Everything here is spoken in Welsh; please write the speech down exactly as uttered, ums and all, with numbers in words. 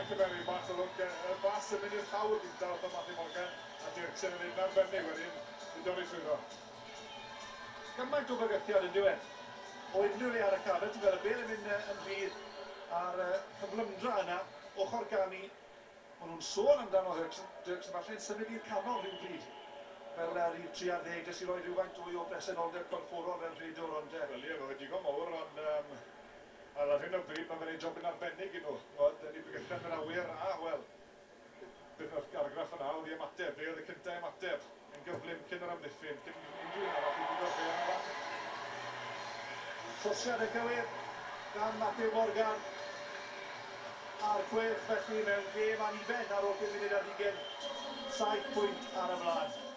cymeru bach o lwc, y bas yn mynd i'r llawr gyntaf wrth Matthew Morgan, a Dirksen yn un arbennig wedyn i dorri trwyddo. Gymaint o fygythiad yn diwedd. O unrhyw le ar y cae, ti'n gweld y bel yn mynd yn rhydd a'r cyflymdra yna, ochr gamu. Maen nhw'n sôn amdano Dirksen, Dirksen falle'n symud i'r canol rhyw bryd. Fel uh, rhif tri ar ddeg, jyst i roi rhywfaint fwy o bresenoldeb corfforol fel rhedwr, ond... Uh, Wel ie, mae fe digon mawr, ond um, ar hyn o bryd mae fe'n ei jobyn arbennig i nhw. Wel, ni bygythiad yn yr awyr, a wel, beth oedd argraff yna oedd i ymateb, fe oedd y cyntaf ymateb yn gyflym cyn yr amddiffyn, cyn unrhyw un arall i bigo'r bêl yn lan. Trosiad y cywir gan Matthew Morgan. A'r Gweilch felly mewn gêm aniben ar ôl pum munud ar hugain. Saith pwynt ar y blaen.